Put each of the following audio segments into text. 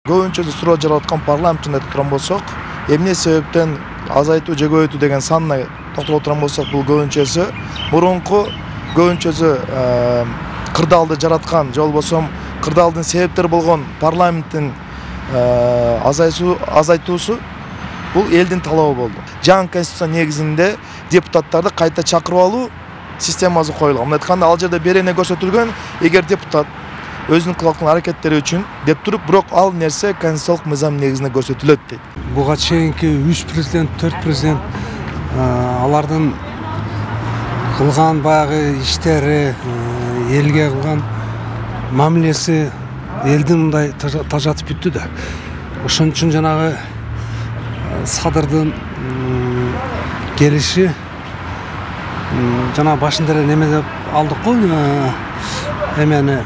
Көбүнчө суроо жараткан парламент жөнүндө айта турган болсок, эмне себептен азайтуу же көбөйтүү деген санына токтоло турган болсок, бул көбүнчөсү мурунку көбүнчөсү кырдаалды жараткан же болбосо кырдаалдын себептери болгон парламенттин азайтуусу бул элдин талабы болду. Жаңы конституция негизинде депутаттарды кайта чакырып алуу системасы коюлган. Мындай айтканда, ал жерде берене көрсөтүлгөн, эгер депутат өзүнүн кылган аракеттери үчүн деп туруп, бирок ал нерсе конституциялык мыйзам негизинде көрсөтүлөт дейт. Буга чейинки 3 президент, 4 президент алардын кылган баягы иштери, элге кылган мамилеси элдин мындай тажатып бүттү да. Ошон үчүн жанагы садырдын келиши жана башында эле неме деп алдык го, эмени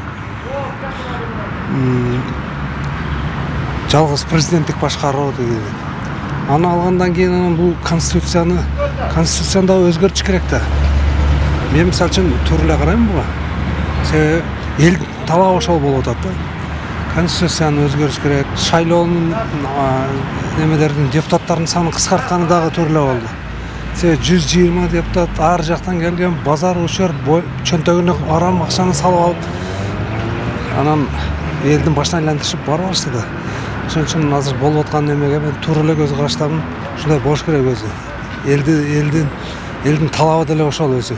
жалгыз президенттик башкаруу деген. Аны алгандан кийин бул конституцияны өзгөртүш керек да. Мен мисалы үчүн туура эле карайм буга. Себеби эл талабы ошол болуп атат да. Конституцияны өзгөрүш керек. Шайлоонун немелердин депутаттардын санын кыскартканы дагы туура эле болду. Себеби 120 депутат ар жактан келген, базар учур, чөнтөгүнө арам акчаны салып алып, анан элдин башына айлантырышып барып баштады. Ошон үчүн азыр болуп аткан немеге мен туура эле көз караштамын. Ушундай болуш керек өзү. Элдин талабы деле ошол өзү.